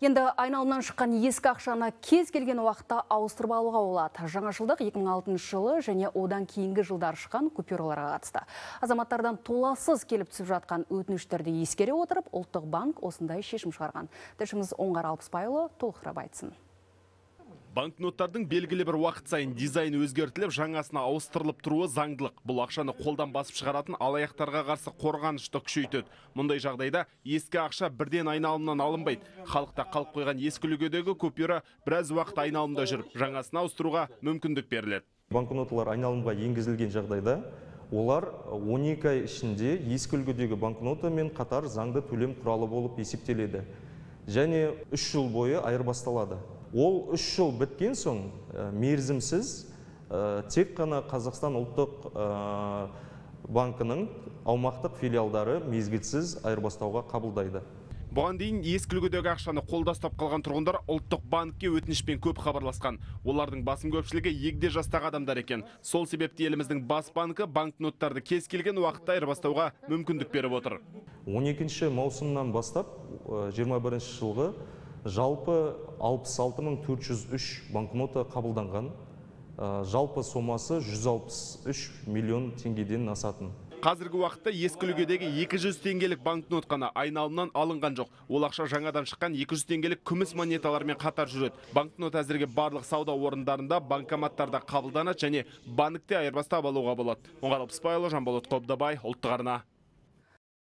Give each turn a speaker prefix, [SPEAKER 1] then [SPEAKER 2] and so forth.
[SPEAKER 1] Енді айналымнан шыққан ескі ақшаны кез келген уақытта ауыстырып алуға болады. Жаңашылдық 2006 жылы және одан кейінгі жылдар шыққан купюраларға қатысты. Азаматтардан толассыз келіп түсіп жатқан өтініштерді ескере отырып, ұлттық банк осындай шешім шығарған. Тілшіміз Оңғар Алпысбайұлы толықтырып айтсын.
[SPEAKER 2] Банкноттардың белгілі бір уақыт сайын дизайны өзгертіліп, жаңасына ауыстырылып тұруы заңдылық. Бұл ақшаны қолдан басып шығаратын алаяқтарға қарсы қорғанышты күшейтеді. Мұндай жағдайда ескі ақша бірден айналымнан алынбайды. Халықта қалып қойған ескі үлгідегі купюра біраз уақыт айналымда жүріп, жаңасына ауыстыруға мүмкіндік беріледі.
[SPEAKER 3] Банкноталар айналымға енгізілген жағдайда олар 12 ай ішінде ескі үлгідегі банкнотамен қатар заңды төлем құралы болып есептеледі. Және 3 жыл бойы айырбасталады. Ол 3 жыл біткен соң мерзімсіз тек қана Қазақстан ұлттық банкының аумақтық филиалдары мезгілсіз айырбастауға қабылдайды.
[SPEAKER 2] Бұған дейін ескі үлгідегі ақшаны қолда ұстап қалған тұрғындар ұлттық банкке өтінішпен көп хабарласқан. Олардың басым көпшілігі егде жастағы адамдар екен. Сол себепті еліміздің бас банкі банкноттарды кез келген уақытта айырбастауға мүмкіндік беріп отыр.
[SPEAKER 3] 12 маусымнан бастап 21 жылғы жалпы 66.403 банкнота қабылданған. Жалпы сомасы 163 миллион теңгеден асатын.
[SPEAKER 2] Қазіргі уақытта ескі үлгідегі 200 теңгелік банкнот қана айналымнан алынған жоқ. Ол ақша жаңадан шыққан 200 теңгелік күміс монеталармен қатар жүреді. Банкнот әзірге барлық сауда орындарында, банкоматтарда қабылданады және банкте айырбастап алуға болады. Оңғар Алпысбайұлы, Жанболат Қобдабай, ұлттық арна.